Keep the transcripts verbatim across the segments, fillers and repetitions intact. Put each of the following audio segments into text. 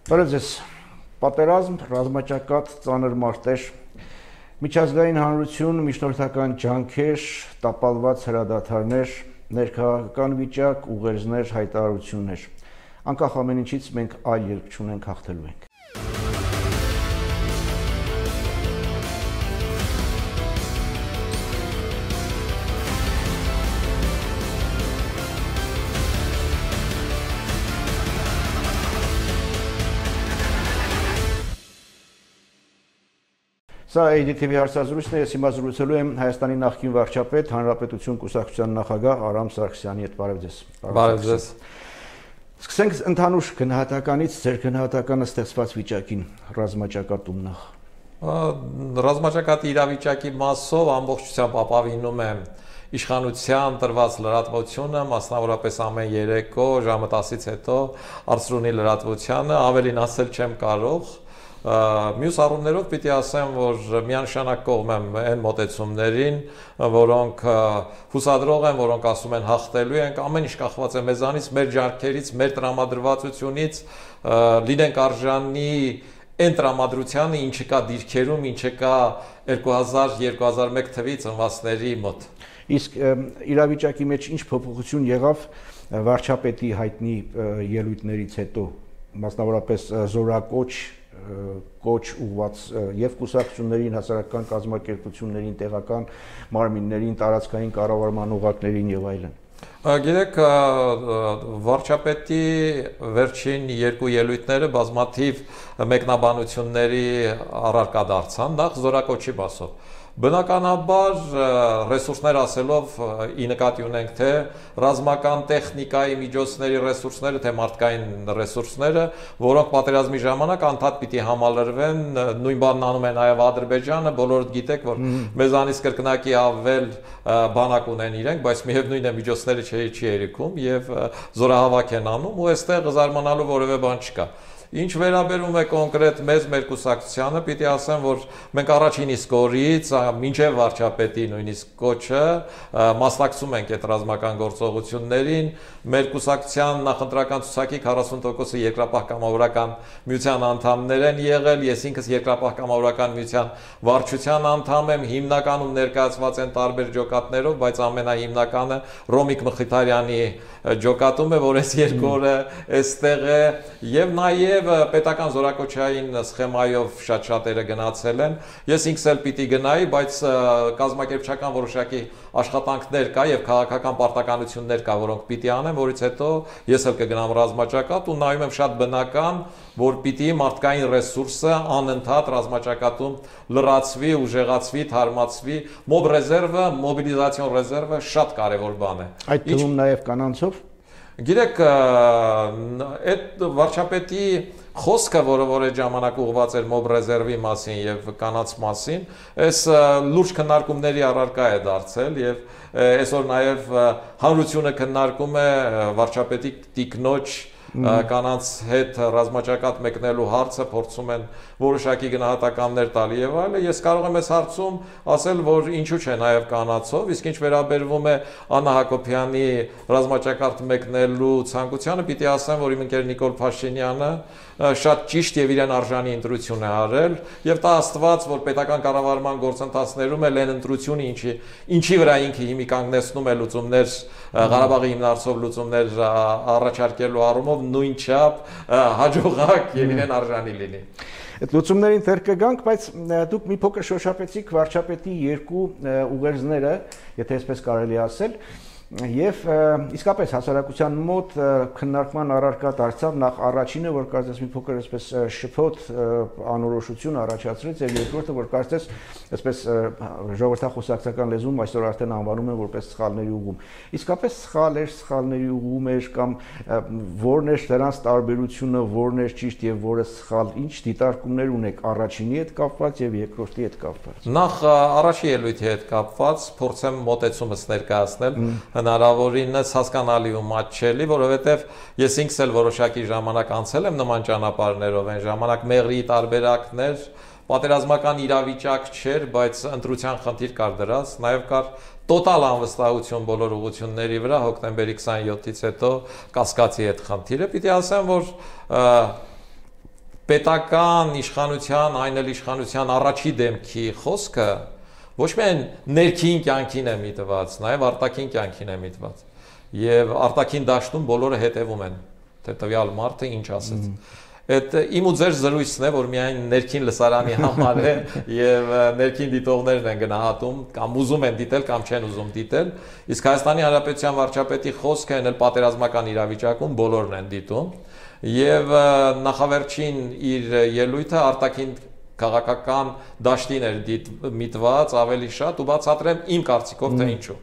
Բարև ձեզ, պատերազմ, ռազմաճակատ, ծանր մարտեր, միջազգային հանրություն, միջնորդական ջանքեր, տապալված հրադադարներ, ներքաղաքական վիճակ, ուղերձներ, հայտարարություններ, անկախ ամեն ինչից մենք այլ ելք չունենք, հաղթելու ենք։ Սա A D T V հարցազրույցն է, ես հիմա զրուցելու եմ Հայաստանի նախկին վարչապետ, Հանրապետություն կուսակցության նախագահ Արամ Սարգսյանի հետ։ Բարև ձեզ։ Բարև ձեզ։ Սկսենք ընդհանուր գնահատականից, ձեր գնահատականը ստեղծված վիճակին, ռազմաճակատում նախ։ Ռազմաճակատի իրավիճակի մասով ամբողջությամբ ապավինում եմ իշխանության տրված լրատվությունը, մասնավորապես ամեն երեկո ժամը տասից հետո Արցրունի լրատվությանը, ավելին ասել չեմ կարող։ Մյուս առումներով պիտի ասեմ, որ միանշանակ կողմ եմ այն մոտեցումներին, որոնք հուսադրող են, որոնք ասում են հաղթելու ենք, ամեն ինչ կախված է մեզանից, մեր ջանքերից, մեր տրամադրվածությունից, լինենք արժանի այն տրամադրությանը, ինչը կա դիրքերում, ինչը կա երկու հազար երկու հազար մեկ թվի ծնվածների մոտ։ Իսկ իրավիճակի մեջ ինչ փոփոխություն եղավ վարչապետի հայտնի ելույթներից հետո, մասնավորապես զորակոչ կոչ ուղված եւ կուսակցություններին, հասարակական կազմակերպություններին, տեղական մարմիններին, տարածքային կառավարման օղակներին եւ այլն։ Գիտեք, վարչապետի վերջին երկու ելույթները բազմաթիվ մեկնաբանությունների առարկա դարձան, նախ զորակոչի մասով։ Բնականաբար ռեսուրսներ ասելով ի նկատի ունենք թե ռազմական տեխնիկայի միջոցների ռեսուրսները, թե մարդկային ռեսուրսները, որոնք պատերազմի ժամանակ անդադ պիտի համալրվեն, նույն բանն անում է նաև Ադրբեջանը, բոլորդ գիտեք, որ մեզանից կրկնակի ավել բանակ ունեն իրենք, բայց միևնույն է միջոցները չի երիքում եւ զորահավաք են անում ու այստեղ զարմանալու որևէ բան չկա։ Ինչ վերաբերում է կոնկրետ մեզ մեր կուսակցությանը, պիտի ասեմ, որ մենք առաջին իսկ օրից, մինչև վարչապետի նույնիսկ կոչը, մասնակցում ենք այդ ռազմական գործողություններին, մեր կուսակցության նախընտրական ցուցակի քառասուն տոկոսը երկրապահ կամավորական միության անդամներ են եղել, ես ինքս երկրապահ կամավորական միության վարչության անդամ եմ, հիմնականում ներկայացված են տարբեր ջոկատներով, բայց ամենահիմնականը Ռոմիկ Մխիթարյանի ջոկատում է, որ այս երկու օրը այստեղ է եւ նաեւ պետական զորակոչային սխեմայով շատ շատերը գնացել են։ Ես ինքս էլ պիտի գնայի, բայց կազմակերպչական որոշակի աշխատանքներ կա եւ քաղաքական պարտականություններ կա, որոնք պիտի անեմ, որից հետո ես էլ կգնամ ռազմաճակատ ու նայում եմ շատ բնական, որ պիտի մարդկային ռեսուրսը անընդհատ ռազմաճակատում լրացվի, ուժեղացվի, թարմացվի, մոբ ռեզերվը, մոբիլիզացիոն ռեզերվը շատ կարեւոր բան է։ Այդ թվում նաեւ կանանցով Գիտեք, այդ վարչապետի խոսքը, որը որ այդ ժամանակ ուղղված էր մոբ ռեզերվի մասին եւ կանանց մասին, այս լուրջ քննարկումների առարկա է դարձել եւ այսօր նաեւ հանրությունը քննարկում է վարչապետի տիկնոջ կանանց հետ ռազմաճակատ մեկնելու հարցը, փորձում են որոշակի գնահատականներ տալ եւ այլն։ Ես կարող եմ այս հարցում ասել, որ ինչու՞ չէ նաեւ կանանցով, իսկ ինչ վերաբերվում է Աննա Հակոբյանի ռազմաճակատ մեկնելու ցանկությանը, պիտի ասեմ, որ իմ ընկեր Նիկոլ Փաշինյանը շատ ճիշտ եւ իրեն արժանի ընտրություն է արել եւ տա Աստված, որ պետական կառավարման գործընթացներում էլ այն ընտրությունը, ինչի ինչի վրա ինքը հիմի կանգնեցնում է լուծումներ, Ղարաբաղի հիմնարցով լուծումներ առաջարկելու առումով նույնչափ հաջողակ եւ իրեն արժանի լինի։ Այդ լուծումներին դեռ կգանք, բայց դուք մի փոքր շոշափեցիք վարչապետի երկու ուղերձները, եթե այսպես կարելի ասել, եւ իսկապես հասարակության մոտ քննարկման առարկա դարձավ նախ առաջինը, որ կարծես մի փոքր այսպես շփոթ անորոշություն առաջացրեց, եւ երկրորդը, որ կարծես այսպես ժողովրդախոսակցական լեզվում այսօր արդեն անվանում են որպես սխալների ուղում։ Իսկապես սխալ էր, սխալների ուղում էր կամ որն էր դրանց տարբերությունը, որն էր ճիշտ եւ որը սխալ, ինչ դիտարկումներ ունեք առաջինի հետ կապված եւ երկրորդի հետ կապված։ Նախ առաջի ելույթի հետ կապված փորձեմ մոտեցումս ներկայացնել հնարավորինս հասկանալի ու մատչելի, որովհետև ես ինքս էլ որոշակի ժամանակ անցել եմ նման ճանապարհներով, այն ժամանակ մեղրի տարբերակներ, պատերազմական իրավիճակ չէր, բայց ընտրության խնդիր կար դրած, նաև կար տոտալ անվստահություն բոլոր ուղղությունների վրա հոկտեմբերի քսաներկուից հետո կասկածի այդ խնդիրը, պիտի ասեմ, որ պետական իշխանության, այն էլ իշխանության առաջի դեմքի խոսքը ոչ միայն ներքին կյանքին է միտված, նաև արտաքին կյանքին է միտված։ Եվ արտաքին դաշտում բոլորը հետևում են, թե տվյալ մարդը ինչ ասեց։ Այդ իմ ու ձեր զրույցն է, որ միայն ներքին լսարանի համար է եւ ներքին դիտողներն են գնահատում, կամ ուզում են դիտել, կամ չեն ուզում դիտել, իսկ Հայաստանի Հանրապետության վարչապետի խոսքը այն էլ պատերազմական իրավիճակում բոլորն են դիտում, եւ նախավերջին իր ելույթը արտաքին քաղաքական դաշտին էր միտված ավելի շատ, ու բացատրեմ իմ կարծիքով թե ինչու։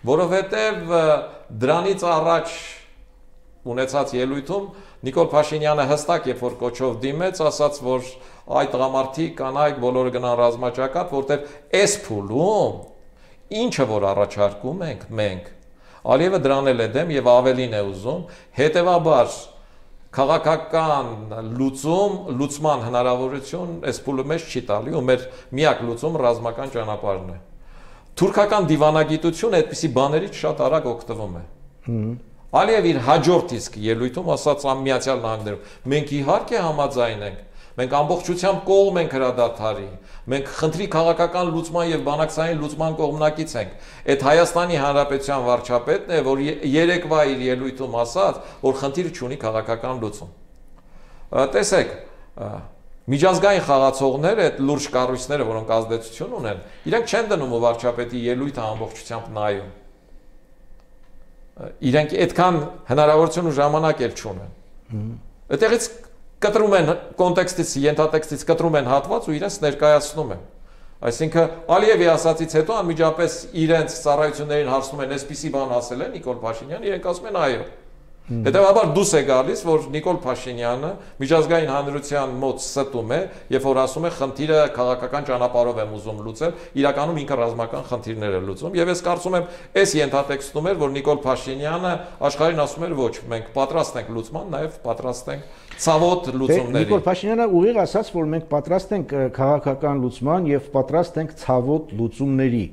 Որովհետև դրանից առաջ ունեցած ելույթում Նիկոլ Փաշինյանը հստակ երբ որ կոչով դիմեց, ասաց, որ այդ տղամարդիկ կանայք բոլորը գնան ռազմաճակատ, որտեղ այս փուլում ինչը որ առաջարկում ենք մենք, Ալիևը դրան էլ է դեմ եւ ավելին է ուզում, հետեւաբար քաղաքական լուծում, լուծման հնարավորություն այս փուլը մեզ չի տալի, ու մեր միակ լուծումը ռազմական ճանապարհն է։ Թուրքական դիվանագիտությունը այդպիսի բաներից շատ արագ օգտվում է։ Ալիև իր հաջորդ իսկ ելույթում ասաց Միացյալ Նահանգներում, մենք իհարկե համաձայն ենք, մենք ամբողջությամբ կողմ ենք հրադադարի, մենք խնդրի քաղաքական լուծման եւ բանակցային լուծման կողմնակից ենք։ Այդ Հայաստանի Հանրապետության վարչապետն է, որ երեկվա իր ելույթում ասաց, որ խնդիրը չունի քաղաքական լուծում։ Տեսեք, միջազգային խաղացողները, այդ լուրջ կառույցները, որոնք ազդեցություն ունեն, իրենք չեն դնում ու վարչապետի ելույթը ամբողջությամբ նայում։ Իրենք այդքան հնարավորություն ու ժամանակ էլ չունեն։ Այդտեղից կտրում են կոնտեքստից, ենթատեքստից կտրում են հատված ու իրենց ներկայացնում են։ Այսինքն Ալիևի ասացից հետո անմիջապես իրենց ծառայություններին հարցնում են, այսպիսի բան ասել է Նիկոլ Փաշինյանը, իրենք ասում են այո։ Հետևաբար դուս է գալիս, որ Նիկոլ Փաշինյանը միջազգային հանրության մոտ ստում է, երբ որ ասում է խնդիրը քաղաքական ճանապարհով եմ ուզում լուծել, իրականում ինքը ռազմական խնդիրներ է լուծում, եւ ես կարծում եմ, այս ենթատեքստում էր, որ Նիկոլ Փաշինյանը աշխարհին ասում էր ոչ, մենք պատրաստ ենք լուծման, նաեւ պատրաստ ենք ցավոտ լուծումների։ Նիկոլ Փաշինյանը ուղիղ ասաց, որ մենք պատրաստ ենք քաղաքական լուծման եւ պատրաստ ենք ցավոտ լուծումների։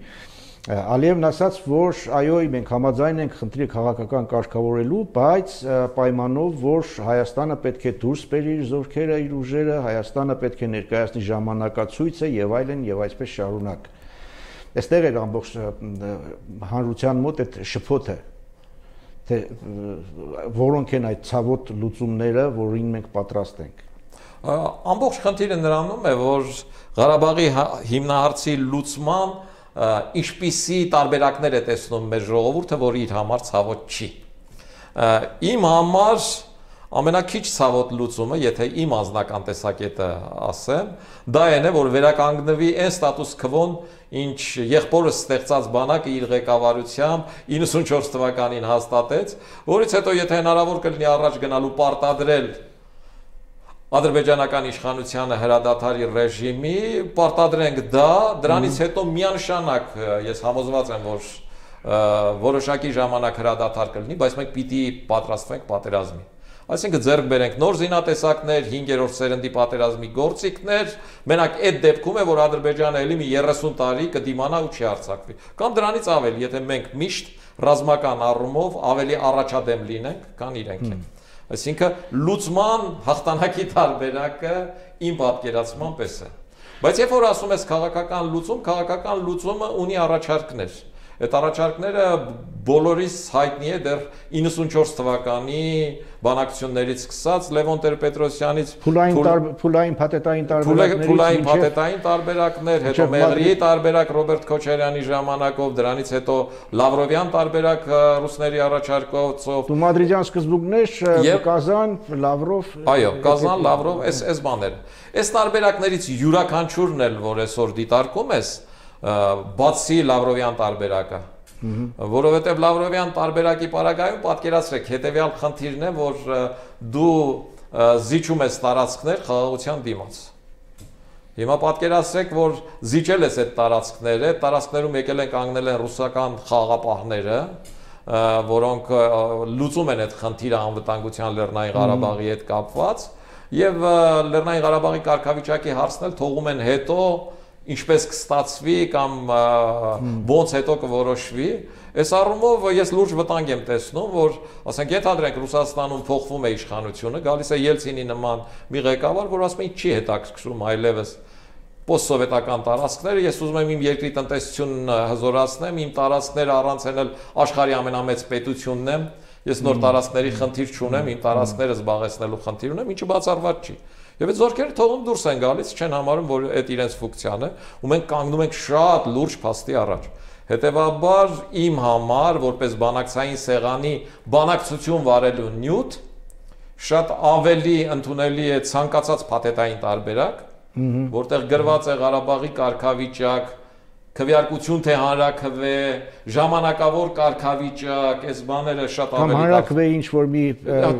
Ալիևն ասաց, որ այո, մենք համաձայն ենք խնդրի քաղաքական կարգավորելու, բայց պայմանով, որ Հայաստանը պետք է դուրս բերի իր զորքերը, իր ուժերը, Հայաստանը պետք է ներկայացնի ժամանակացույցը եւ այլն եւ այսպես շարունակ։ Այստեղ էր ամբողջ հանրության մոտ այդ շփոթը, թե որոնք են այդ ցավոտ լուծումները, որին մենք պատրաստ ենք։ Ամբողջ խնդիրը նրանում է, որ Ղարաբաղի հիմնահարցի լուծման ինչպիսի տարբերակներ է տեսնում մեր ժողովուրդը, որ իր համար ցավոտ չի։ Իմ համար ամենակիչ ցավոտ լուծումը, եթե իմ անձնական տեսակետը ասեմ, դա այն է, որ վերականգնվի այն ստատուս քվոն, ինչ եղբորս ստեղծած բանակը իր ղեկավարությամբ իննսունչորս թվականին հաստատեց, որից հետո եթե հնարավոր կլինի առաջ գնալու պարտադրել ադրբեջանական իշխանությանը հրադադարի ռեժիմի, պարտադրենք դա, դրանից հետո միանշանակ ես համոզված եմ, որ որոշակի ժամանակ հրադադար կլինի, բայց մենք պիտի պատրաստվենք պատերազմի։ Այսինքն ձեռք բերենք նոր զինատեսակներ, հինգերորդ սերնդի պատերազմի գործիքներ, մենակ այդ դեպքում է, որ Ադրբեջանը ելի մի երեսուն տարի կդիմանա ու չի արձակվի։ Կամ դրանից ավելի, եթե մենք միշտ ռազմական առումով ավելի առաջադեմ լինենք, քան իրենք են։ Այսինքն լուծման հաղթանակի տարբերակը իմ պատկերացման պես է։ Բայց երբ որ ասում ես քաղաքական լուծում, քաղաքական լուծումը ունի առաջարկներ։ Այդ առաջարկները բոլորիս հայտնի է դեռ իննսունչորս թվականի բանակցություններից սկսած Լևոն Տեր-Պետրոսյանից փուլային փաթեթային տարբերակներից փուլային փաթեթային տարբերակներ, հետո Մեղրիի տարբերակ Ռոբերտ Քոչարյանի ժամանակով, դրանից հետո Լավրովյան տարբերակ ռուսների առաջարկով, Մադրիդյան սկզբունքներ, Կազան, Լավրով։ Այո, Կազան, Լավրով, այս այս բաները։ Այս տարբերակներից յուրաքանչյուրն էլ, որ այսօր դիտարկում ես, բացի Լավրովյան տարբերակը, որովհետև Լավրովյան տարբերակի պարագայում պատկերացրեք հետևյալ խնդիրն է, որ դու զիջում ես տարածքներ խաղաղության դիմաց։ Հիմա պատկերացրեք, որ զիջել ես այդ տարածքները, տարածքներում եկել են կանգնել են ռուսական խաղաղապահները, որոնք լուծում են այդ խնդիրը անվտանգության Լեռնային Ղարաբաղի հետ կապված, եւ Լեռնային Ղարաբաղի կարգավիճակի հարցն էլ թողում են հետո ինչպես կստացվի կամ ոնց հետո կորոշվի, այս առումով ես լուրջ վտանգ եմ տեսնում, որ ասենք ենթադրենք Ռուսաստանում փոխվում է իշխանությունը, գալիս է Ելցինի նման մի ղեկավար, որ ասում է չի հետաքրքրում այլևս post-սովետական տարածքները, ես ուզում եմ իմ երկրի տնտեսությունն հզորացնեմ, իմ տարածքները առանց էլ աշխարհի ամենամեծ պետությունն եմ, ես նոր տարածքների խնդիր չունեմ, իմ տարածքները զբաղեցնելու խնդիր ունեմ, ինչը բացառված չի։ Եվ այդ զորքերը թողում դուրս են գալիս, չեն համարում, որ այդ իրենց ֆունկցիան է, ու մենք կանգնում ենք շատ լուրջ փաստի առաջ։ Հետևաբար իմ համար, որպես բանակցային սեղանի բանակցություն վարելու նյութ, շատ ավելի ընդունելի է ցանկացած փաթեթային տարբերակ, որտեղ գրված է Ղարաբաղի կարգավիճակ, քվեարկություն թե հանրաքվե, ժամանակավոր կարգավիճակ, այս բաները շատ ավելի հանրաքվե ինչ որ մի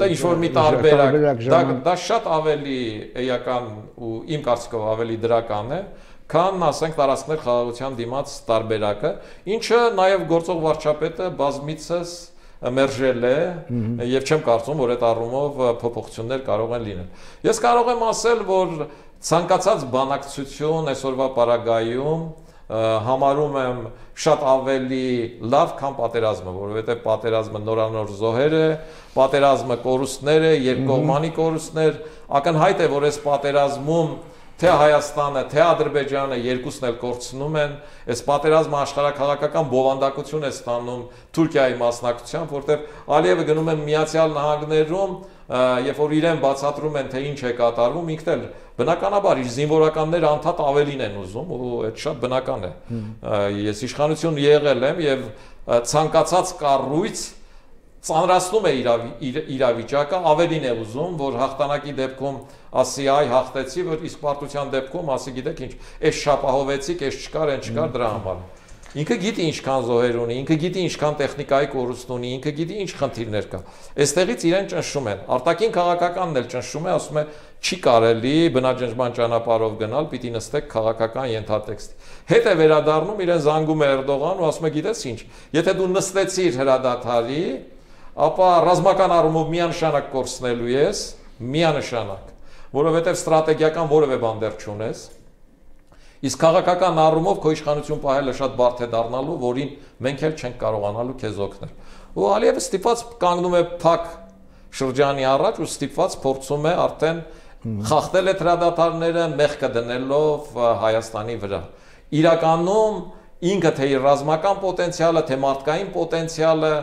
ինչ որ մի տարբերակ, դա դա շատ ավելի էական ու իմ կարծիքով ավելի դրական է, քան ասենք տարածքներ խաղաղության դիմաց տարբերակը, ինչը նաև գործող վարչապետը բազմիցս մերժել է եւ չեմ կարծում, որ այդ առումով փոփոխություններ կարող են լինել։ Ես կարող եմ ասել, որ ցանկացած բանակցություն այսօրվա պարագայում համարում եմ շատ ավելի լավ, քան պատերազմը, որովհետեւ պատերազմը նորանոր զոհեր է, պատերազմը կորուստներ է, երկկողմանի կորուստներ, ակնհայտ է, որ այս պատերազմում թե Հայաստանը, թե Ադրբեջանը երկուսն էլ կորցնում են, այս պատերազմը աշխարհաքաղաքական բովանդակություն է ստանում Թուրքիայի մասնակցությամբ, որտեղ Ալիևը գնում է Միացյալ Նահանգներում, երբ որ իրեն բացատրում են, թե ինչ է կատարվում, ինքն էլ բնականաբար իր զինվորականները անդադ ավելին են ուզում, ու այդ շատ բնական է։ Ես իշխանություն եղել եմ եւ ցանկացած կառույց ծանրացնում է իրավիճակը, ավելին է ուզում, որ հաղթանակի դեպքում ասի այ հաղթեցի, որ իսկ պարտության դեպքում ասի գիտեք ինչ, այս շապահովեցիք, այս չկար, այն չկար դրա համար։ Ինքը գիտի ինչքան զոհեր ունի, ինքը գիտի ինչքան տեխնիկայի կորուստ ունի, ինքը գիտի ինչ խնդիրներ կա։ Այստեղից իրեն ճնշում են։ Արտաքին քաղաքականն էլ ճնշում է, ասում է չի կարելի բնաջնջման ճանապարհով գնալ, պիտի նստեք քաղաքական ենթատեքստի։ Հետ է վերադառնում, իրեն զանգում է Էրդողան ու ասում է գիտես ինչ, եթե դու նստեցիր հրադադարի, ապա ռազմական առումով միանշանակ կորցնելու ես, միանշանակ, որովհետև ստրատեգիական որևէ բան դեռ չունես, իսկ քաղաքական առումով քո իշխանություն պահելը շատ բարդ է դառնալու, որին մենք էլ չենք կարողանալու քեզ օգնել։ Ու Ալիևը ստիպված կանգնում է փակ շրջանի առաջ ու ստիպված փորձում է արդեն խախտել այդ հրադադարները մեղքը դնելով Հայաստանի վրա։ Իրականում ինքը թե իր ռազմական պոտենցիալը, թե մարդկային պոտենցիալը,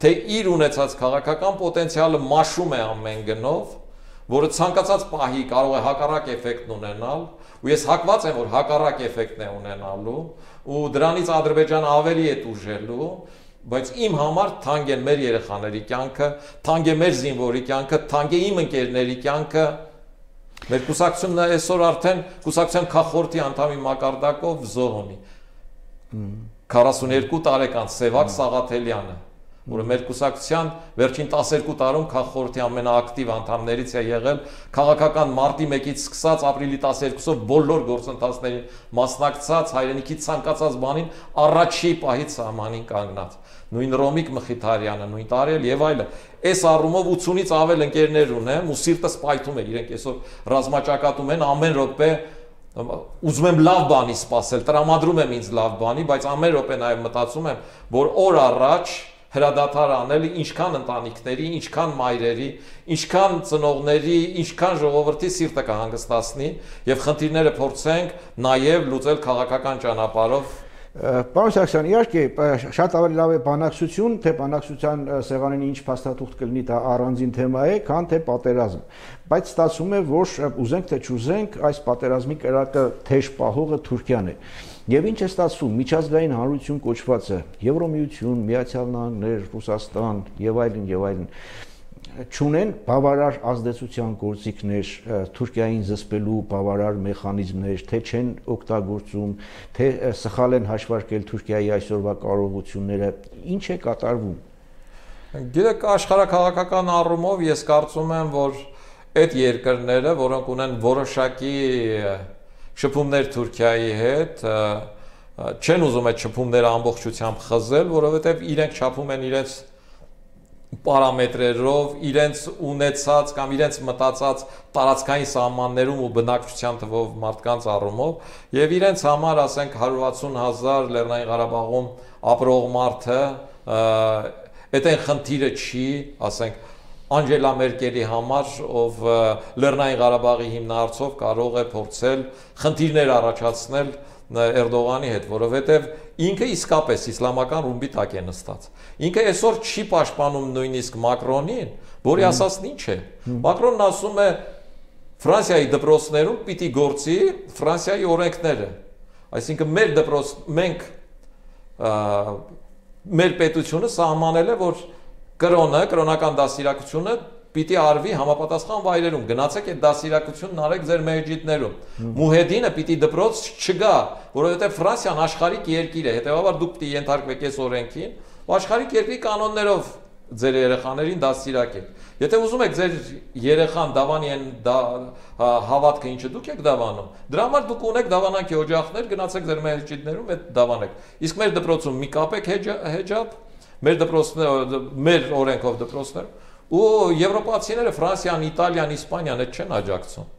թե իր ունեցած քաղաքական պոտենցիալը մաշում է ամեն գնով, որը ցանկացած պահի կարող է հակառակ էֆեկտն ունենալ, ու ես հակված եմ, որ հակառակ էֆեկտն է ունենալու, ու դրանից Ադրբեջանը ավելի է տուժելու, բայց իմ համար թանկ են մեր երեխաների կյանքը, թանկ է մեր զինվորի կյանքը, թանկ է իմ ընկերների կյանքը, մեր կուսակցությունը այսօր արդեն կուսակցության քաղաքորդի անդամի մակարդակով զոհ ունի, քառասունյոթ տարեկան Սևակ Սաղաթելյանը, որը մեր կուսակցության վերջին տասներկու տարում քաղաքորդի ամենաակտիվ անդամներից է եղել, քաղաքական մարտի մեկից սկսած ապրիլի տասներկուսով բոլոր գործընթացներին մասնակցած, հայրենիքի ցանկացած բանին առաջի պահից սահմանին կանգնած, նույն Ռոմիկ Մխիթարյանը, նույն Տարել եւ այլը։ Այս առումով ութունից ավել ընկերներ ունեմ ու սիրտս պայթում է, իրենք այսօր ռազմաճակատում են ամեն րոպե ուզում եմ լավ բանի սպասել, տրամադրում եմ ինձ լավ բանի, բայց ամեն րոպե նաեւ մտածում եմ, որ օր առաջ հրադադար անելը ինչքան ընտանիքների, ինչքան մայրերի, ինչքան ծնողների, ինչքան ժողովրդի սիրտը կհանգստացնի եւ խնդիրները փորձենք նաեւ լուծել քաղաքական ճանապարհով։ Պարոն Սարգսյան, իհարկե շատ ավելի լավ է բանակցություն, թե բանակցության սեղանին ինչ փաստաթուղթ կլինի, դա առանձին թեմա է, քան թե պատերազմ։ Բայց ստացվում է, որ ուզենք թե չուզենք, այս պատերազմի կրակը թեժ պահողը Թուրքիան է։ Եվ ինչ է ստացվում, միջազգային հանրություն կոչվածը, Եվրոմիություն, Միացյալ Նահանգներ, Ռուսաստան եւ այլն եւ այլն չունեն բավարար ազդեցության գործիքներ, Թուրքիային զսպելու բավարար մեխանիզմներ, թե չեն օգտագործում, թե սխալ են հաշվարկել Թուրքիայի այսօրվա կարողությունները, ինչ է կատարվում։ Գիտեք, աշխարհաքաղաքական առումով ես կարծում եմ, որ այդ երկրները, որոնք ունեն որոշակի շփումներ Թուրքիայի հետ, չեն ուզում այդ շփումները ամբողջությամբ խզել, որովհետև իրենք չափում են իրենց պարամետրերով, իրենց ունեցած կամ իրենց մտածած տարածքային սահմաններում ու բնակչության թվով մարդկանց առումով եւ իրենց համար, ասենք, հարյուր վաթսուն հազար Լեռնային Ղարաբաղում ապրող մարդը այդ այն խնդիրը չի, ասենք, Անգելա Մերկելի համար, ով Լեռնային Ղարաբաղի հիմնարարցով կարող է փորձել խնդիրներ առաջացնել Էրդողանի հետ, որովհետև ինքը իսկապես իսլամական ռումբի տակ է նստած։ Ինքը այսօր չի պաշտպանում նույնիսկ Մակրոնին, որի ասածն ինչ է։ Մակրոնն ասում է Ֆրանսիայի դպրոցներում պիտի գործի Ֆրանսիայի օրենքները։ Այսինքն մեր դպրոց մենք մեր պետությունը սահմանել է, որ կրոնը, կրոնական դաստիարակությունը պիտի արվի համապատասխան վայրերում։ Գնացեք այդ դաստիարակությունն արեք ձեր մեջիդներում։ Մուհեդինը պիտի դպրոց չգա, որովհետև Ֆրանսիան աշխարհիկ երկիր է, հետևաբար դուք պիտի ենթարկվեք այս օրենքին, ու աշխարհիկ երկրի կանոններով ձեր երեխաներին դաստիարակեք։ Եթե ուզում եք ձեր երեխան դավանի են հավատքը ինչը դուք եք դավանում, դրա համար դուք ունեք դավանանքի օջախներ, գնացեք ձեր մեջիդներում այդ դավանեք։ Իսկ մեր դպրոցում մի կապեք հեջաբ, մեր դպրոցները, մեր օրենքով դպրոցներ, ու եվրոպացիները Ֆրանսիան, Իտալիան, Իսպանիան այդ չեն աջակցում։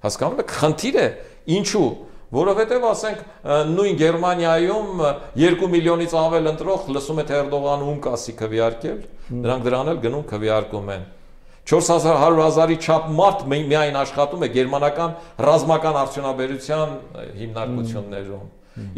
Հասկանում եք, խնդիր է, ինչու, որովհետև ասենք նույն Գերմանիայում երկու միլիոնից ավել ընտրող լսում է թե Էրդողանը ում կասի քվեարկել, նրանք դրան էլ գնում քվեարկում են։ չորս հարյուր հազարի չափ մարդ միայն աշխատում է գերմանական ռազմական արդյունաբերության հիմնարկություններում։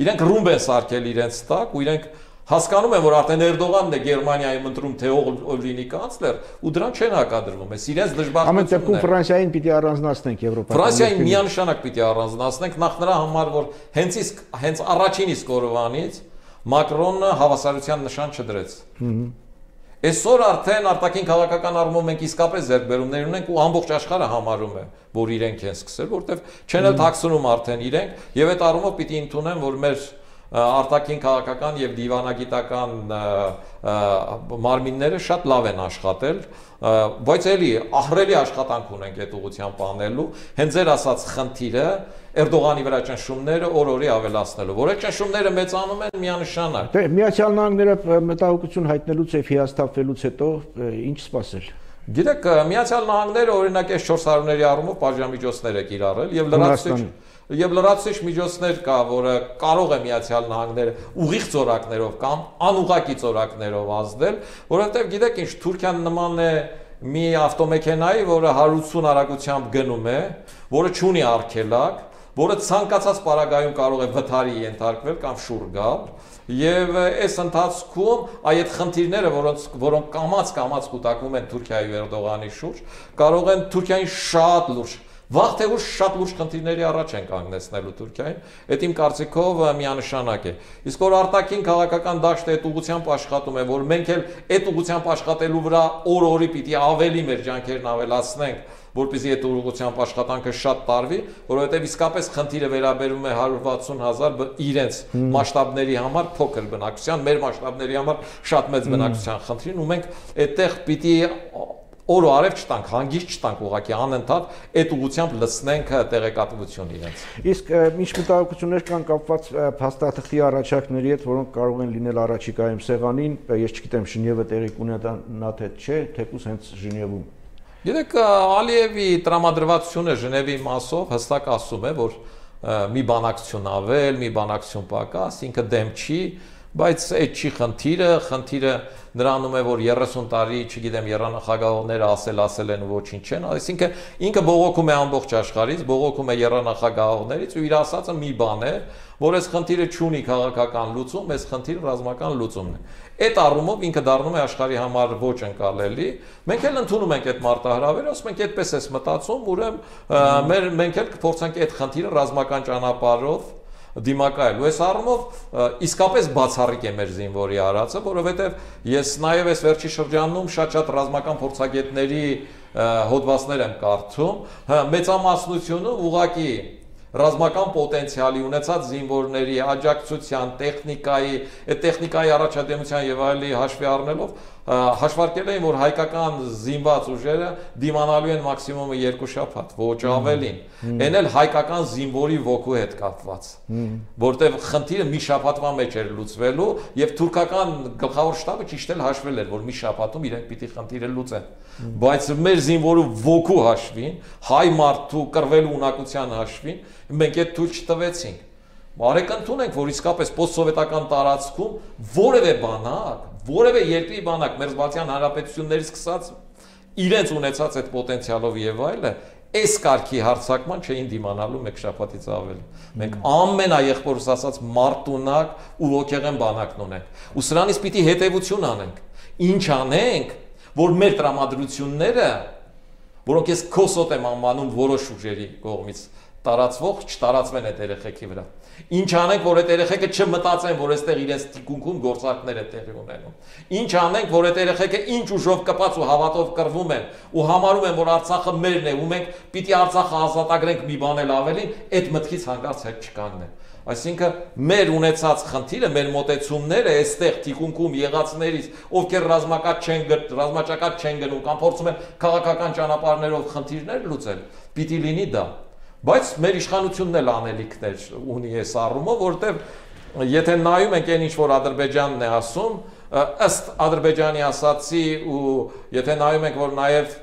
Իրենք ռումբ են սարքել իրենց տակ ու իրենք հասկանում են, որ արդեն Էրդողանն է Գերմանիայում ընտրում թե ով լինի կանցլեր, ու դրան չեն հակադրվում։ Այս իրենց դժբախտությունն է։ Ամեն դեպքում Ֆրանսիային պիտի առանձնացնենք Եվրոպայից։ Ֆրանսիային միանշանակ պիտի առանձնացնենք, նախ նրա համար, որ հենց իսկ հենց առաջին իսկ օրվանից Մակրոնը հավասարության նշան չդրեց։ Այսօր արդեն արտաքին քաղաքական առումով մենք իսկապես ձեռքբերումներ ունենք ու ամբողջ աշխարհը համարում է, որ իրենք են սկսել, որտեղ չեն էլ թաքցնում արդեն իրենք, եւ այդ առումով պիտի ընդունեն, որ մեր արտաքին քաղաքական եւ դիվանագիտական մարմինները շատ լավ են աշխատել, բայց էլի ահռելի աշխատանք ունենք այդ ուղղությամբ անելու, հենց ձեր ասած խնդիրը Էրդողանի վրա ճնշումները օր-օրի ավելացնելու, որ այդ ճնշումները մեծանում են միանշանակ։ Դե Միացյալ Նահանգները մտահոգություն հայտնելուց եւ հիասթափվելուց հետո ինչ սպասել։ Գիտեք, Միացյալ Նահանգները օրինակ այս չորս հարյուրների առումով պատժամիջոցներ է կիրառել եւ լրացուցիչ եւ լրացուցիչ միջոցներ կա, որը կարող է Միացյալ Նահանգները ուղիղ ծորակներով կամ անուղղակի ծորակներով ազդել, որովհետեւ գիտեք ինչ, Թուրքիան նման է մի ավտոմեքենայի, որը հարյուր ութսուն արագությամբ գնում է, որը չունի արգելակ, որը ցանկացած պարագայում կարող է վթարի ենթարկվել կամ շուռ գալ, եւ այս ընթացքում այդ խնդիրները, որոնց որոնք կամած կամած կուտակվում են Թուրքիայի ու Էրդողանի շուրջ, կարող են Թուրքիային շատ լուրջ Վաղ թե ուշ շատ լուրջ խնդիրների առաջ են կանգնեցնելու Թուրքիային, այդ իմ կարծիքով միանշանակ է։ Իսկ որ արտաքին քաղաքական դաշտը այդ ուղղությամբ աշխատում է, որ մենք էլ այդ ուղղությամբ աշխատելու վրա օր-օրի պիտի ավելի մեր ջանքերն ավելացնենք, որպեսզի այդ ուղղությամբ աշխատանքը շատ տարվի, որովհետև իսկապես խնդիրը վերաբերում է հարյուր վաթսուն հազար իրենց մասշտաբների համար փոքր բնակչության, մեր մասշտաբների համար շատ մեծ բնակչության խնդրին, ու մենք այդտեղ պիտի օր ու արև չտանք, հանգիստ չտանք, ուղղակի անընդհատ այդ ուղղությամբ լցնենք տեղեկատվություն իրենց։ Իսկ ինչ մտահոգություններ կան կապված փաստաթղթի առաջարկների հետ, որոնք կարող են լինել առաջիկայում սեղանին, ես չգիտեմ Ժնևը տեղի կունենա թե չէ, թեկուզ հենց Ժնևում։ Գիտեք, Ալիևի տրամադրվածությունը Ժնևի մասով հստակ ասում է, որ մի բանակցություն ավել, մի բանակցություն պակաս, ինքը դեմ չի, բայց այդ չի խնդիրը, խնդիրը նրանում է, որ երեսուն տարի, չգիտեմ, եռանախագահողները ասել ասել են ու ոչինչ չեն, այսինքն ինքը բողոքում է ամբողջ աշխարհից, բողոքում է եռանախագահողներից ու իր ասածը մի բան է, որ այս խնդիրը չունի քաղաքական լուծում, այս խնդիրը ռազմական լուծումն է։ Այդ առումով ինքը դառնում է աշխարհի համար ոչ ընկալելի։ Մենք էլ ընդունում ենք այդ մարտահրավերը, ասում ենք այդպես էս մտածում, ուրեմն մեր մենք էլ կփորձենք այդ խնդիրը ռազմական ճանապարհով դիմակայել։ Ու այս առումով իսկապես բացառիկ է մեր զինվորի արածը, որովհետև ես նաև այս վերջի շրջանում շատ-շատ ռազմական փորձագետների հոդվածներ եմ կարդում, մեծամասնությունը ուղղակի ռազմական պոտենցիալի ունեցած զինվորների աջակցության, տեխնիկայի, այդ տեխնիկայի առաջադեմության եւ այլի հաշվի առնելով հաշվարկել էին, որ հայկական զինված ուժերը դիմանալու են մաքսիմումը երկու շաբաթ, ոչ ավելին։ Այն էլ հայկական զինվորի ոգու հետ կապված, որտեղ խնդիրը մի շաբաթվա մեջ էր լուծվելու եւ թուրքական գլխավոր շտաբը ճիշտ էլ հաշվել էր, որ մի շաբաթում իրենք պիտի խնդիրը լուծեն։ Բայց մեր զինվորու ոգու հաշվին, հայ մարդու կռվելու ունակության հաշվին, մենք այդ թույլ չտվեցինք։ Բարեկընդուն ենք, որ իսկապես պոստսովետական տարածքում որևէ բանակ, որևէ երկրի բանակ մերձբալթյան հանրապետություններից սկսած իրենց ունեցած այդ պոտենցիալով եւ այլը, այս կարգի հարձակման չէին դիմանալու մեկ շաբաթից ավել։ Մենք ամենաեղբորս ասած մարտունակ ու ոգեղեն բանակն ունենք։ Ու սրանից պիտի հետևություն անենք։ Ինչ անենք, որ մեր տրամադրությունները, որոնք ես քոսոտ եմ անվանում որոշ ուժերի կողմից տարածվող չտարածվեն այդ երեխեքի վրա։ Ինչ անենք, որ այդ երեխեքը չմտածեն, որ այստեղ իրենց թիկունքում գործարքներ է տեղի ունենում։ Ինչ անենք, որ այդ երեխեքը ինչ ուժով կպած ու հավատով կռվում են ու համարում են, որ Արցախը մերն է ու մենք պիտի Արցախը ազատագրենք մի բան էլ ավելին, այդ մտքից հանկարծ հետ չկանգնեն։ Այսինքն մեր ունեցած խնդիրը, մեր մոտեցումները այստեղ թիկունքում եղածներից, ովքեր ռազմակաց չեն ռազմաճակատ չեն գնում կամ փորձում են քաղաքական ճանապարհներով խնդիրներ լուծել, պիտի լինի դա։ Բայց մեր իշխանությունն էլ անելիքներ ունի այս առումով, որտեղ եթե նայում ենք այն ինչ որ Ադրբեջանն է ասում, ըստ Ադրբեջանի ասացի ու եթե նայում ենք որ նաև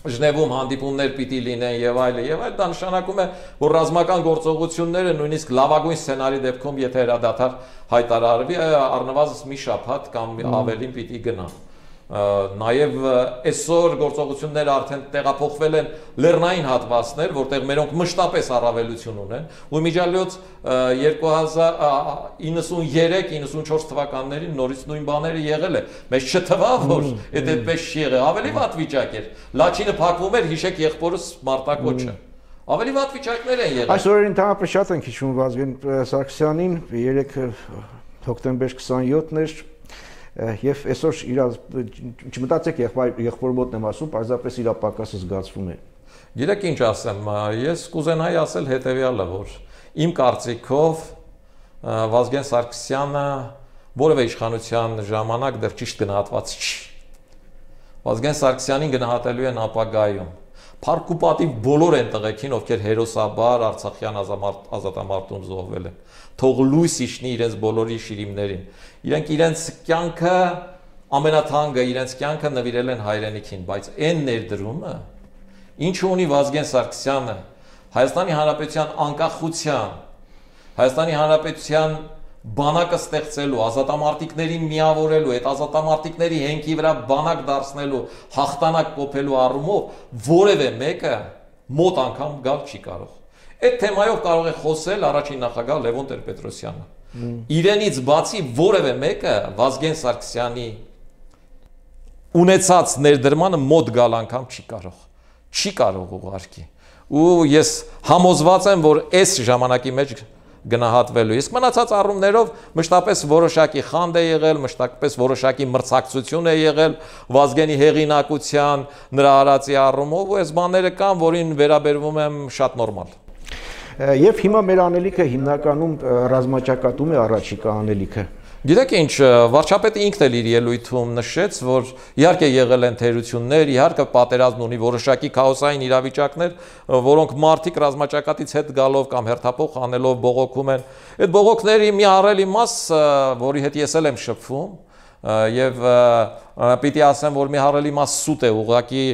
Ժնևում հանդիպումներ պիտի լինեն եւ այլը եւ այլ, դա նշանակում է, որ ռազմական գործողությունները նույնիսկ լավագույն սցենարի դեպքում, եթե հրադադար հայտարարվի, առնվազն մի շաբաթ կամ ավելին պիտի գնա։ Նաև այսօր գործողությունները արդեն տեղափոխվել են լեռնային հատվածներ, որտեղ մերոնք մշտապես առավելություն ունեն, ու միջալյոց երկու հազար իննսուններեք իննսունչորս թվականներին նորից նույն բաները եղել է։ Մեզ չթվավ, որ այդ այդպես չի եղել, ավելի վատ վիճակ էր։ Լաչինը փակվում էր, հիշեք եղբորս Մարտակոչը։ Ավելի վատ վիճակներ են եղել։ Այս օրերին ընդհանրապես շատ ենք հիշում Վազգեն Սարգսյանին, երեք հոկտեմբեր քսանյոթն էր Եվ այսօր իր չմտածեք եղբոր մոտն եմ ասում, պարզապես իր պակասը զգացվում է։ Գիտեք ինչ ասեմ, ես կուզենայի ասել հետևյալը, որ իմ կարծիքով Վազգեն Սարգսյանը որևէ իշխանության ժամանակ դեռ ճիշտ գնահատված չի։ Վազգեն Սարգսյանին գնահատելու են ապագայում։ Փառք ու պատիվ բոլոր են տղեկին, ովքեր հերոսաբար Արցախյան ազատամարտում զոհվել են։ Թող լույս իջնի իրենց բոլորի շիրիմներին։ Իրենք իրենց կյանքը ամենաթանկը, իրենց կյանքը նվիրել են հայրենիքին, բայց այն ներդրումը, ինչ ունի Վազգեն Սարգսյանը Հայաստանի Հանրապետության անկախության, Հայաստանի Հանրապետության բանակը ստեղծելու, ազատամարտիկներին միավորելու, այդ ազատամարտիկների հենքի վրա բանակ դարձնելու, հաղթանակ կոփելու առումով որևէ մեկը մոտ անգամ գալ չի կարող։ Այդ թեմայով կարող է խոսել առաջին նախագահ Լևոն Տեր-Պետրոսյանը։ Իրենից բացի որևէ մեկը Վազգեն Սարգսյանի ունեցած ներդրմանը մոտ գալ անգամ չի կարող։ Չի կարող ուղղակի։ Ու ես համոզված եմ, որ այս ժամանակի մեջ գնահատվելու։ Իսկ մնացած առումներով մշտապես որոշակի խանդ է եղել, մշտապես որոշակի մրցակցություն է եղել Վազգենի հեղինակության, նրա արածի առումով, ու այս բաները կան, որին վերաբերվում եմ շատ նորմալ։ Եվ հիմա մեր անելիքը հիմնականում ռազմաճակատում է առաջիկա անելիքը։ Գիտեք ինչ, վարչապետը ինքն էլ իր ելույթում նշեց, որ իհարկե եղել են թերություններ, իհարկե պատերազմն ունի որոշակի քաոսային իրավիճակներ, որոնք մարդիկ ռազմաճակատից հետ գալով կամ հերթափոխ անելով բողոքում են։ Այդ բողոքների մի առելի մաս, որի հետ ես էլ եմ շփվում, եւ պիտի ասեմ, որ մի առելի մաս սուտ է ուղղակի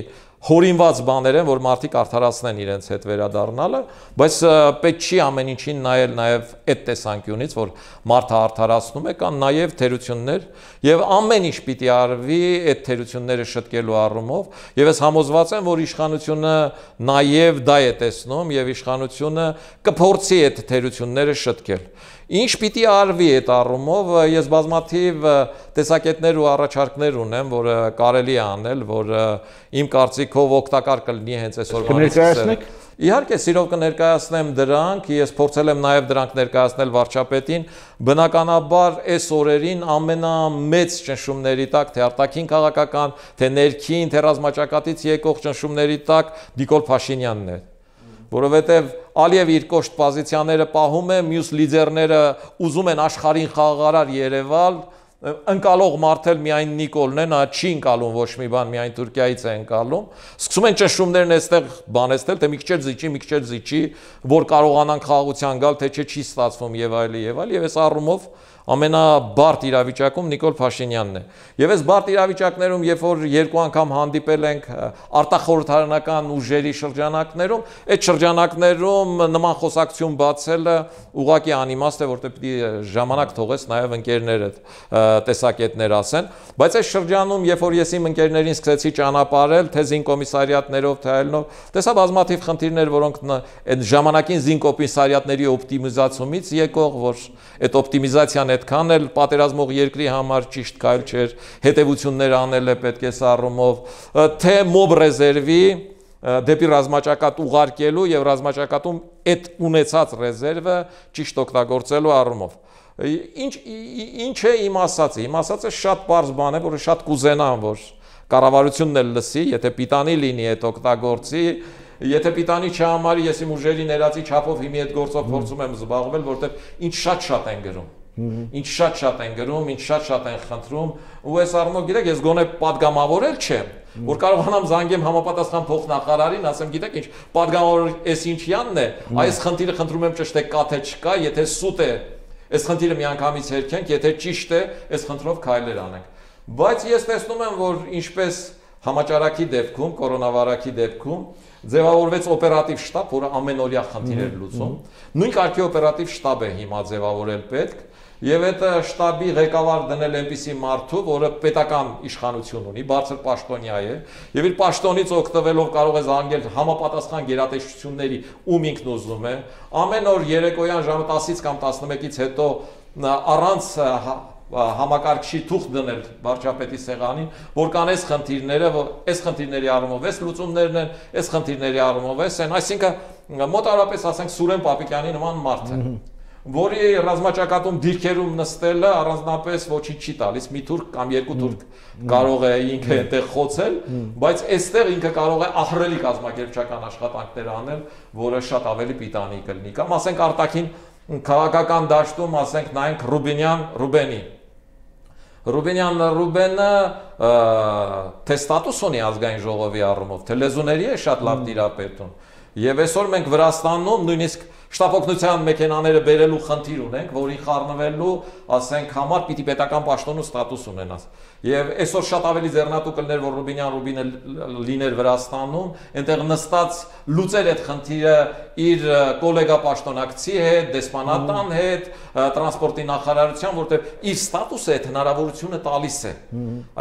հորինված բաներ են, որ մարդիկ արդարացնեն իրենց հետ վերադառնալը, բայց պետք չի ամեն ինչին նայել նաև այդ տեսանկյունից, որ մարդը արդարացնում է, կան նաև թերություններ, եւ ամեն ինչ պիտի արվի այդ թերությունները շտկելու առումով, եւ ես համոզված եմ, որ իշխանությունը նաև դա է տեսնում եւ իշխանությունը կփորձի այդ թերությունները շտկել։ Ինչ պիտի արվի այդ առումով, ես բազմաթիվ տեսակետներ ու առաջարկներ ունեմ, որ կարելի է անել, որ իմ կարծիքով օգտակար կլինի հենց այսօրվանից սկսել։ Իհարկե, սիրով կներկայացնեմ դրանք, ես փորձել եմ նաև դրանք ներկայացնել վարչապետին, բնականաբար այս օրերին ամենամեծ ճնշումների տակ, թե արտաքին քաղաքական, թե ներքին, թե ռազմաճակատից եկող ճնշումների տակ Նիկոլ Փաշինյանն է։ Որովհետև Ալիև իր կոշտ պոզիցիաները պահում է, մյուս լիդերները ուզում են աշխարհին խաղաղարար Երևալ, ընկալող մարդել միայն Նիկոլն է, նա չի ընկալում ոչ մի բան, միայն Թուրքիայից է ընկալում։ Սկսում են ճնշումներն այստեղ բանեցնել, թե մի քիչ զիջի, մի քիչ զիջի, որ կարողանան խաղաղության գալ, թե չէ չի ստացվում եւ այլն եւ այլն, եւ այս առումով ամենաբարդ իրավիճակում Նիկոլ Փաշինյանն է։ Եվ այս բարդ իրավիճակներում, երբ որ երկու անգամ հանդիպել ենք արտախորհրդարանական ուժերի շրջանակներում, այդ շրջանակներում նման խոսակցություն բացելը ուղղակի անիմաստ է, որտեղ պիտի ժամանակ թողես նաև ընկերներդ տեսակետներ ասեն, բայց այս շրջանում, երբ որ ես իմ ընկերներին սկսեցի ճանապարհել, թե զինկոմիսարիատներով, թե այլնով, տեսա բազմաթիվ խնդիրներ, որոնք այդ ժամանակին զինկոմիսարիատների օպտիմիզացումից եկող, որ այդ օպտիմիզացիան այդքան էլ պատերազմող երկրի համար ճիշտ կայլ չէր, հետևություններ անել է պետք է սառումով, թե մոբ ռեզերվի դեպի ռազմաճակատ ուղարկելու եւ ռազմաճակատում այդ ունեցած ռեզերվը ճիշտ օգտագործելու առումով։ Ինչ ինչ է իմ ասածը, իմ ասածը շատ པարզ բան է, որը շատ կուզենամ, որ կառավարությունն էլ լսի, եթե պիտանի լինի այդ օգտագործի, եթե պիտանի չհամարի, ես իմ ուժերի ներածի չափով հիմի այդ գործով փորձում եմ զբաղվել, որտեղ ինչ շատ-շատ են գրում։ Ինչ շատ-շատ են գրում, ինչ շատ-շատ են խնդրում, ու այս առումով գիտեք, ես գոնե падգամավորել չեմ, որ կարողանամ զանգեմ համապատասխան փոխնախարարին, ասեմ, գիտեք ինչ, падգամավոր էս ինչյանն է, այս խնդիրը խնդրում եմ ճշտեք կա թե չկա, եթե սուտ է, այս խնդիրը միանգամից հերքենք, եթե ճիշտ է, այս խնդրով քայլեր անենք։ Բայց ես տեսնում եմ, որ ինչպես համաճարակի դեպքում, կորոնավարակի դեպքում ձևավորվեց օպերատիվ շտաբ, որը ամենօրյա խնդիրներ լուծում։ Նույն կարգի օպերատիվ շտաբ է հիմա ձևավորել պետք, եւ այդ շտաբի ղեկավար դնել այնպիսի մարդու, որը պետական իշխանություն ունի, բարձր պաշտոնյա է, եւ իր պաշտոնից օգտվելով կարող է զանգել համապատասխան գերատեսչությունների, ում ինքն ուզում է, ամեն օր երեկոյան ժամը տասից կամ տասնմեկից հետո առանց համակարգչի թուղթ դնել վարչապետի սեղանին, որ կան այս խնդիրները, որ այս խնդիրների առումով էս լուծումներն են, այս խնդիրների առումով էս են, այսինքն մոտավորապես ասենք Սուրեն Պապիկյանի նման մարդ է, որի ռազմաճակատում դիրքերում նստելը առանձնապես ոչինչ չի տալիս, մի թուրք կամ երկու թուրք կարող է ինքը այդտեղ խոցել, բայց այստեղ ինքը կարող է ահռելի կազմակերպչական աշխատանքներ անել, որը շատ ավելի պիտանի կլինի, կամ ասենք արտաքին քաղաքական դաշտում, ասենք նայենք Ռուբինյան Ռուբենի Ռուբենյան Ռուբենը թե ստատուս ունի ազգային ժողովի առումով, թե լեզուների է շատ լավ տիրապետում, եւ այսօր մենք Վրաստանում նույնիսկ շտապօգնության մեքենաները բերելու խնդիր ունենք, որի խառնվելու, ասենք, համար պիտի պետական պաշտոն ու ստատուս ունենաս։ Եվ այսօր շատ ավելի ձեռնատու կլներ, որ Ռուբինյան Ռուբինը լիներ Վրաստանում, այնտեղ նստած լուծեր այդ խնդիրը իր կոլեգա պաշտոնակցի հետ, դեսպանատան հետ, տրանսպորտի նախարարության, որտեղ իր ստատուսը այդ հնարավորությունը տալիս է։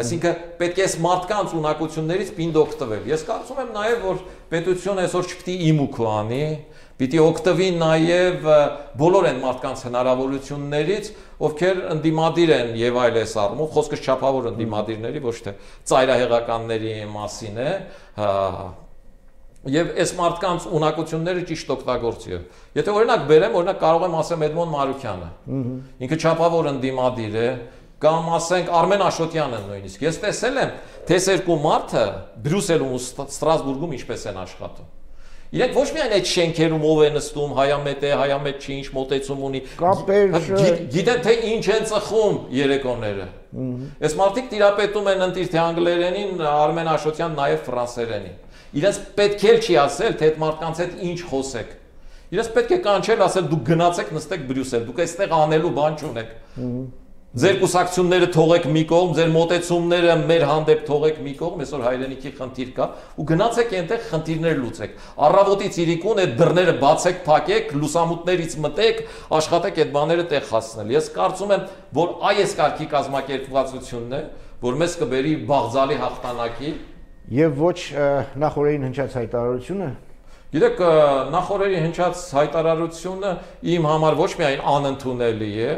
Այսինքն պետք է այս մարդկանց ունակություններից պինդ օգտվել։ Ես կարծում եմ նաև, որ պետությունը այսօր չպիտի իմուք անի, պիտի օգտվի նաև բոլոր այն մարդկանց հնարավորություններից, ովքեր ընդդիմադիր են եւ այլ էս առումով, խոսքը չափավոր ընդդիմադիրների, ոչ թե ծայրահեղականների մասին է, եւ այս մարդկանց ունակությունները ճիշտ օգտագործի։ Եթե օրինակ բերեմ, օրինակ կարող եմ ասեմ Էդմոն Մարուկյանը, ինքը չափավոր ընդդիմադիր է, կամ ասենք Արմեն Աշոտյանը նույնիսկ։ Ես տեսել եմ, թե այս երկու մարդը Բրյուսելում ու Ստրասբուրգում ինչպես են աշխատում։ Իրենք ոչ միայն այդ շենքերում ով է նստում, հայամետ է, հայամետ չի, ինչ մոտեցում ունի, գիտեն թե ինչ են ծխում երեկոները։ Այս մարդիկ տիրապետում են ընտիր թե անգլերենին, Արմեն Աշոտյան նաև ֆրանսերենին։ Իրենց պետք է չի ասել, թե այդ մարդկանց հետ ինչ խոսեք։ Իրենց պետք է կանչել, ասել դուք գնացեք նստեք Բրյուսել, դուք այստեղ անելու բան չունեք։ Ձեր կուսակցությունները թողեք մի կողմ, ձեր մոտեցումները մեր հանդեպ թողեք մի կողմ, այսօր հայրենիքի խնդիր կա, ու գնացեք այնտեղ խնդիրներ լուծեք։ Առավոտից իրիկուն այդ դռները բացեք, փակեք, լուսամուտներից մտեք, աշխատեք այդ բաները տեղ հասցնել։ Ես կարծում եմ, որ այս կարգի կազմակերպվածությունն է, որ մեզ կբերի բաղձալի հաղթանակի եւ ոչ նախորդին հնչած հայտարարությունը։ Գիտեք, նախորդի հնչած հայտարարությունը իմ համար ոչ միայն անընդունելի է,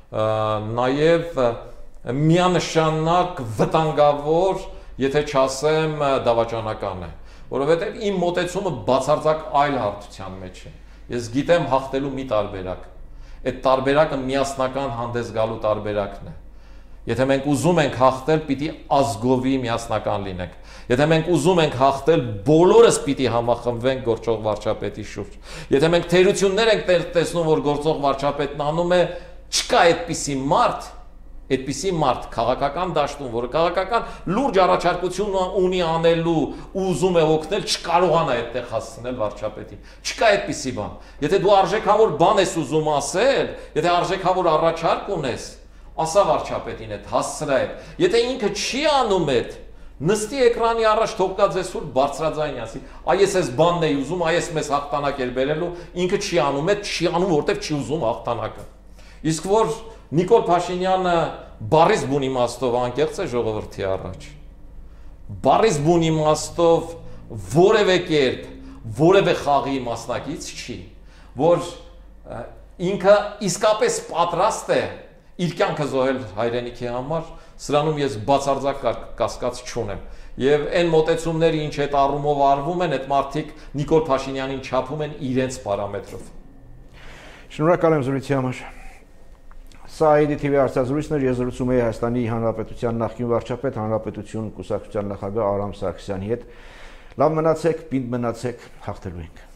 նաև միանշանակ վտանգավոր, եթե չասեմ դավաճանական է, որովհետև իմ մոտեցումը բացարձակ այլ հարթության մեջ է։ Ես գիտեմ հաղթելու մի տարբերակ, այդ տարբերակը միասնական հանդես գալու տարբերակն է։ Եթե մենք ուզում ենք հաղթել, պիտի ազգովի միասնական լինենք։ Եթե մենք ուզում ենք հաղթել, բոլորս պիտի համախմբվենք գործող վարչապետի շուրջ։ Եթե մենք թերություններ ենք տեսնում, որ գործող վարչապետն անում է, չկա այդպիսի մարդ, Այդպիսի մարդ քաղաքական դաշտում, որը քաղաքական լուրջ առաջարկություն ունի անելու ու ուզում է օգնել, չկարողանա այդտեղ հասցնել վարչապետին։ Չկա այդպիսի բան։ Եթե դու արժեքավոր բան ես ուզում ասել, եթե արժեքավոր առաջարկ ունես, ասա վարչապետին այդ, հասցրա այդ։ Եթե ինքը չի անում այդ, նստի էկրանի առաջ թողկա ձեզ սուրբ բարձրաձայն ասի, այ ես այս բանն էի ուզում, այ ես մեզ հաղթանակ էր բերելու, ինքը չի անում այդ, չի անում, որտեղ չի ուզում հաղթանակը։ Իսկ որ Նիկոլ Փաշինյանը բարիս բուն իմաստով անկեղծ է ժողովրդի առաջ։ Բարիս բուն իմաստով որևէ կերպ, որևէ խաղի մասնակից չի, որ ինքը իսկապես պատրաստ է իր կյանքը զոհել հայրենիքի համար, սրանում ես բացարձակ կասկած չունեմ։ Եվ այն մոտեցումները, ինչ այդ առումով արվում են, այդ մարդիկ Նիկոլ Փաշինյանին չափում են իրենց պարամետրով։ Շնորհակալ եմ զրույցի համար։ Սա Այ Դի Թի Վի հարցազրույցն էր, ես զրուցում էի Հայաստանի Հանրապետության նախկին վարչապետ, Հանրապետություն կուսակցության նախագահ Արամ Սարգսյանի հետ։ Լավ մնացեք, պինդ մնացեք, հաղթելու ենք։